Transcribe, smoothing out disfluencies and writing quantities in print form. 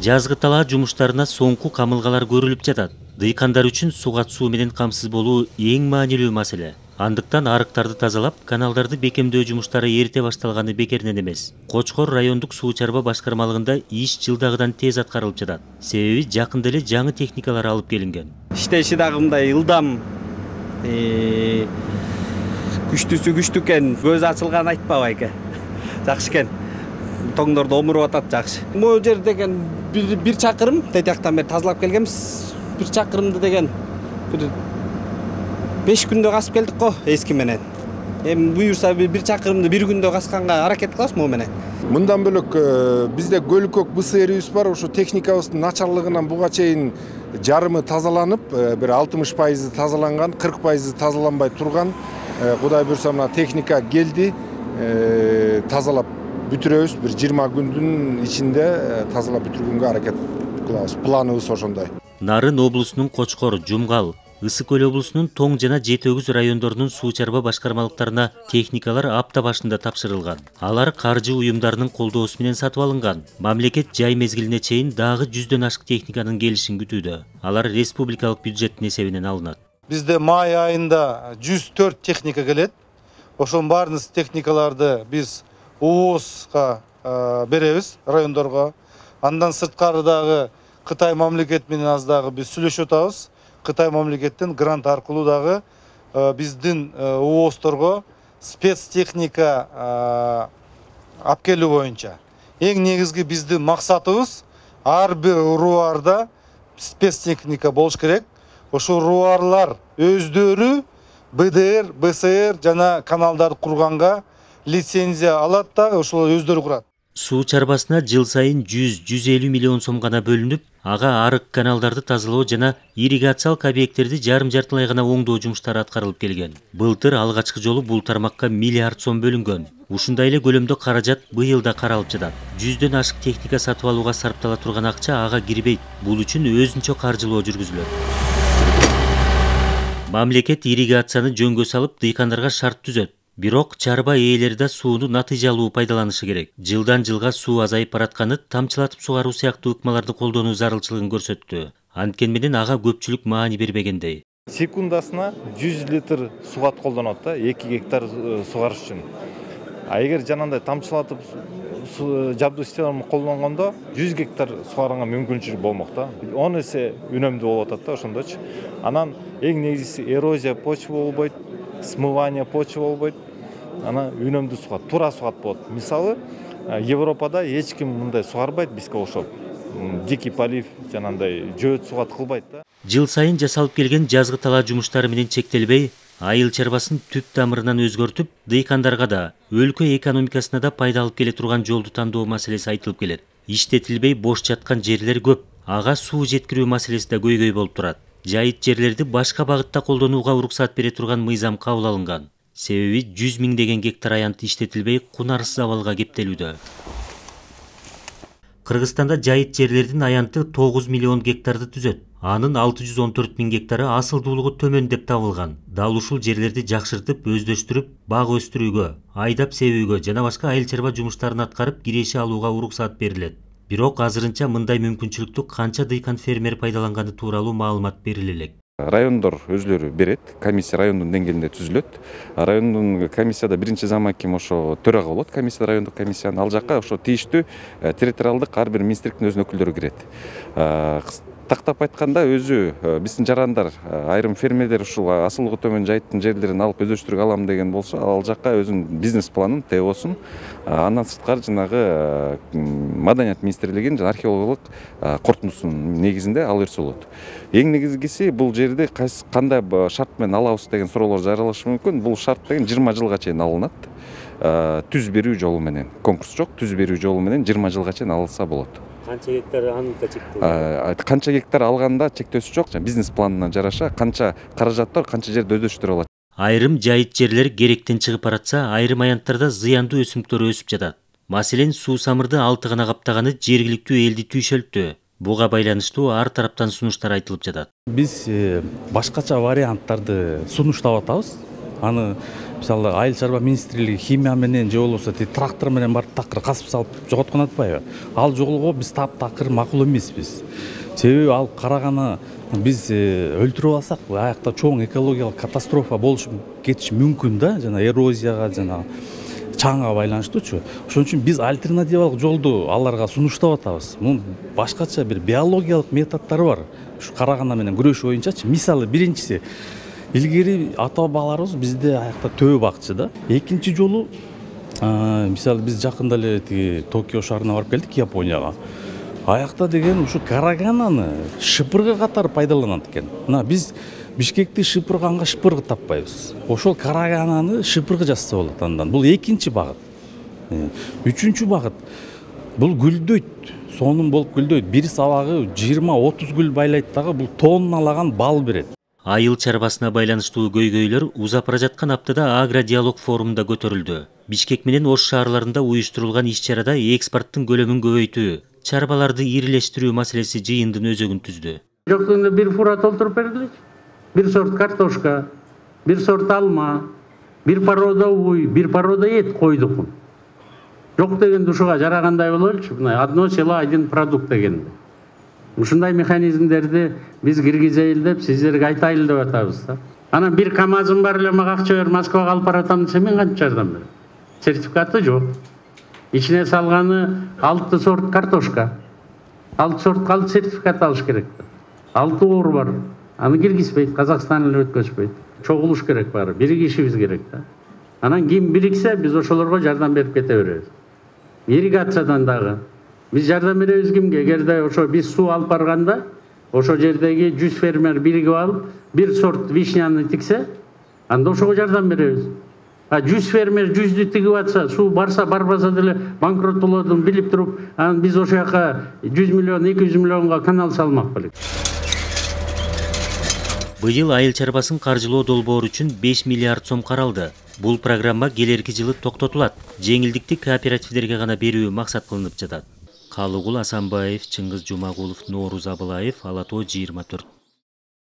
Жазгы талаа жумуштарына соңку камылгалар көрүлүп жатат. Дыйкандар үчүн суга суу менен камсыз болуу эң маанилүү маселе. Андыктан арыктарды тазалап, каналдарды бекемдөө жумуштары эрте башталганы бекеринен эмес. Кочкор райондук суу чарба башкармалыгында иш жылдагыдан тез аткарылып жатат. Себеби жакында эле жаңы техникалар алып келинген. Иштеши дагы мындай ылдам, күчтүүсү күчтүү экен. Көзү ачылган айтпабы эке. Жакшы экен. Тоңдорду омуруп атат жакшы. Могу жер деген бир чакырым тетияктан бери тазалап келгенбиз. Бир чакырымды деген бир 5 күндө касып келдик го эски менен. Эми буюрса бир чакырымды бир күндө касканга аракет кылабыз могу менен. Мындан бөлөк бизде Көлүкөк БСРибиз бар. Ошо техникабыздын начарлыгынан буга чейин жарымы тазаланып, бир 60% тазаланган, 40% тазаланбай турган. Кудай буйрса мына техника келди, тазалап бүтүрөбүз. Бир 20 күндүн ичинде тазалап бүтүргөнгө аракет кылабыз. Планыбыз ошондой. Нарын облусунун Кочкор, Жумгал, Ысык Көл облусунун Тоң жана Жети Өгүз райондорунун суу чарба башкармалыктарына техникалар апта башында тапшырылган. Алар каржы уюмдарынын колдоосу менен сатып алынган. Мамлекет жай мезгилине чейин дагы 100дөн ашык техниканын келишин күтүүдө. Алар республикалык бюджеттин эсебинен алынат. Бизде май айында 104 техника келет. Ошонун баарын техникаларды биз ООСка беребиз, райондорго. Андан сырткары дагы Кытай мамлекет менен аз дагы биз сүйлөшүп атабыз. Кытай мамлекеттен грант аркылуу дагы биздин ООСторго спецтехника алып келүү боюнча. Эң негизги биздин максатыбыз ар бир руарда спецтехника болуш керек. Ошол руарлар өздөрү БДР, БСР жана каналдарды курганга лицензия алат да, ошол өздөрү курат. Суу чарбасына жыл сайын 100-150 миллион сом гана бөлүнүп, ага арык каналдарды тазалоо жана ирригациялык объекттерди жарым-жартылай гана оңдоо жумуштары аткарылып келген. Былтыр алгачкы жолу бул тармакка миллиард сом бөлүнгөн. Ушундай эле көлөмдө каражат быйыл да каралып жатат. 100дөн ашык техника сатып алууга сарптала турган акча ага кирбейт. Бул үчүн өзүнчө каржылоо жүргүзүлөт. Мамлекет ирригацияны жөнгө салып, дыйкандарга шарт түзөт. Бирок чарба ээлери да сууну натыйжалуу пайдаланышы керек. Жылдан жылга суу азайып баратканы тамчылатып сугаруу сыяктуу ыкмаларды колдонуу зарылчылыгын көрсөттү. Анткени менен ага көпчүлүк маани бербегендей. Секундасына 100 литр сугат колдонот да, 2 гектар сугарыш үчүн. А эгер жанагындай тамчылатып жабдуу системаны колдонгондо 100 гектар сугарганга мүмкүнчүлүк болмок да. 10 эсе үнөмдүү болуп атат да ошондочу. Анан эң негизгиси эрозия почва болбойт, смывание почва болбойт. Ана үнөмдүү сугат, туура сугат болот. Мисалы, Европада эч ким мындай сугарбайт бизге окшоп. Дикий полив жанагындай жөөт сугат кылбайт да. Жыл сайын жасалып келген жазгы талаа жумуштары менен чектелбей, айыл чарбасын түп тамырынан өзгөртүп, дыйкандарга да, өлкө экономикасына да пайда алып келе турган жолду тандоо маселеси айтылып келет. Иштетилбей бош жаткан жерлер көп. Ага суу жеткирүү маселеси да көйгөй болуп турат. Жайыт жерлерди башка багытта колдонууга уруксат бере турган мыйзам кабыл алынган. Себеби 100 миңдеген гектар аянт иштетилбей кунарсыз абалга кептелүүдө. Кыргызстанда жайыт жерлердин аянты 9 миллион гектарды түзөт. Анын 614 миң гектары асылдуулугу төмөн деп табылган. Дал ушул жерлерди жакшыртып, өздөштүрүп, баг өстүрүүгө, айдап себүүгө жана башка айыл чарба жумуштарын аткарып киреше алууга уруксат берилет. Бирок азырынча мындай мүмкүнчүлүктү канча дыйкан фермер пайдаланганы тууралуу маалымат бериле элек. Райондор өзлөрү берет, комиссия райондун деңгээлинде түзүлөт. Райондун комиссияда биринчи замаким ошо төрага болот, комиссия райондук комиссиянын. Ал жакка ошо тийиштүү территориалдык ар бир министрликтин өзүнүн өкүлдөрү кирет. Тактап айтканда өзү биздин жарандар, айрым фермерлер ушул асылдуулугу төмөн жайыттын жерлерин алып өздөштүрүп алам деген болсо, ал жакка өзүнүн бизнес планын, ТОсун, андан сырткары жанагы Маданият министрлигинин жана археологиялык корутундусунун негизинде ал нерсе болот. Эң негизгиси бул жерди кандай шарт менен алабыз деген суроолор жаралышы мүмкүн. Бул шарт деген 20 жылга чейин алынат. Түз берүү жолу менен. Конкурс жок, түз берүү жолу менен 20 жылга чейин алынса болот. Канча гектар анында чектөө? Канча гектар алганда чектөөсү жок. Бизнес планына жараша канча каражат бар, канча жерди өздөштүрө алат. Айрым жайыт жерлер керектен чыгып баратса, айрым аянттарда зыяндуу өсүмдүктөр өсүп жатат. Маселен, суу самырды алты гана каптаганы жергиликтүү элди түйшөлттү. Буга байланыштуу ар тараптан сунуштар айтылып жатат. Биз башкача варианттарды сунуштап атабыз. Аны мисалы айыл чарба министрлиги химия менен же болбосо трактор менен барып такыр касып салып жоготкон атпайбы? Ал жолго биз таптакыр макул эмеспиз. Себеби ал караганы биз өлтүрүп алсак, аякта чоң экологиялык катастрофа болуш кетиши мүмкүн да, жана эрозияга, жана чаңга байланыштуучу. Ошон үчүн биз альтернативалык жолду аларга сунуштап атабыз. Мунун башкача бир биологиялык методдору бар. Ушу карагана менен күрөшүү боюнчачы. Мисалы, биринчиси, илгери ата-бабаларыбыз бизде аякта төбө бакчы да. Экинчи жолу, мисалы, биз жакында эле Токио шаарына барып келдик, Японияга. Аякта деген ушу карагананы шыпыргы катары пайдаланат экен. Мына биз Бишкекти шыпырганга шыпыргы таппайбыз. Ошол карагананы шыпыргы жасаса болот андан. Бул экинчи багыт. Үчүнчү багыт. Бул гүлдөйт. Сонун болуп гүлдөйт. Бир сабагы 20-30 гүл байлайт дагы, бул тонналаган бал берет. Айыл чарбасына байланыштуу көйгөйлөр узап бара жаткан аптада агродиалог форумунда көтөрүлдү. Бишкек менен Ош шаарларында уюштурулган иш-чарада экспорттун көлөмүн көбөйтүү, чарбаларды ирилештирүү маселеси жыйындын өзөгүн түздү. Жок дегенде бир фура толтуруп бергилечи. Bir sort kartoşka, bir sort alma, bir paroda uy, bir paroda et koyduk. Жок деген ушуга жарагандай бололчу, мына одно село один продукт деген. Ушундай механизмдерди биз киргизели деп сиздерге айтайлы деп атабыз да. Анан бир КАМАЗым бар эле, мага акча бер, Москвага алып баратам десе мен кантип жардам берем? Сертификаты жок. Ичине салганы 6 сорт картошка. 6 сорт калды сертификат алыш керек. 6 оор бар. Аны киргизбейт, Казакстан эле өткөзбөйт. Чогулуш керек баары, биригишибиз керек да. Анан ким бириксе, биз ошолорго жардам берип кете беребиз. Ирригациядан дагы биз жардам беребиз кимге? Эгерде ошо биз суу алып барганда, ошо жердеги 100 фермер биригип алып, бир сорт вишняны тиксе, анда ошого жардам беребиз. 100 фермер 100ді тигип атса, суу барса, барбаса деле банкрот болотун билип туруп, анан биз ошол жака 100 миллион, 200 миллионго канал салмак белек. Быйыл айыл чарбасын каржылоо долбоор үчүн 5 миллиард сом каралды. Бул программа келерки жылы токтотулат. Жеңилдикти кооперативдерге гана берүү максат кылынып жатат. Калыгул Асанбаев, Чыңгыз Жумагулов, Нооруз Абылаев, Ала Тоо 24.